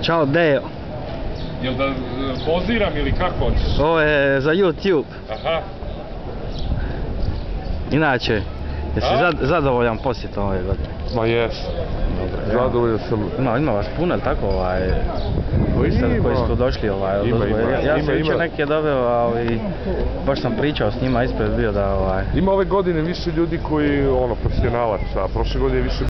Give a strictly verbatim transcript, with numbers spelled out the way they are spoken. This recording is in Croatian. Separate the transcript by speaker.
Speaker 1: Ćao Deo.
Speaker 2: Jel da poziram ili kako hoćeš?
Speaker 1: Ovo je za YouTube.
Speaker 2: Aha.
Speaker 1: Inače, jesi zad, zadovoljan posjetom ove godine?
Speaker 2: Ma jes.
Speaker 1: Dobro,
Speaker 2: zadovoljan sam.
Speaker 1: Ima, ima vas puno, ili tako, ovaj, koji ste, koji su došli, ovaj,
Speaker 2: ima, ima,
Speaker 1: ja, ja
Speaker 2: ima,
Speaker 1: sam jučer
Speaker 2: ima.
Speaker 1: neke doveo, ali baš sam pričao s njima, ispred bio da, ovaj...
Speaker 2: Ima ove godine više ljudi koji, ono, profesionalaca, a prošle godine više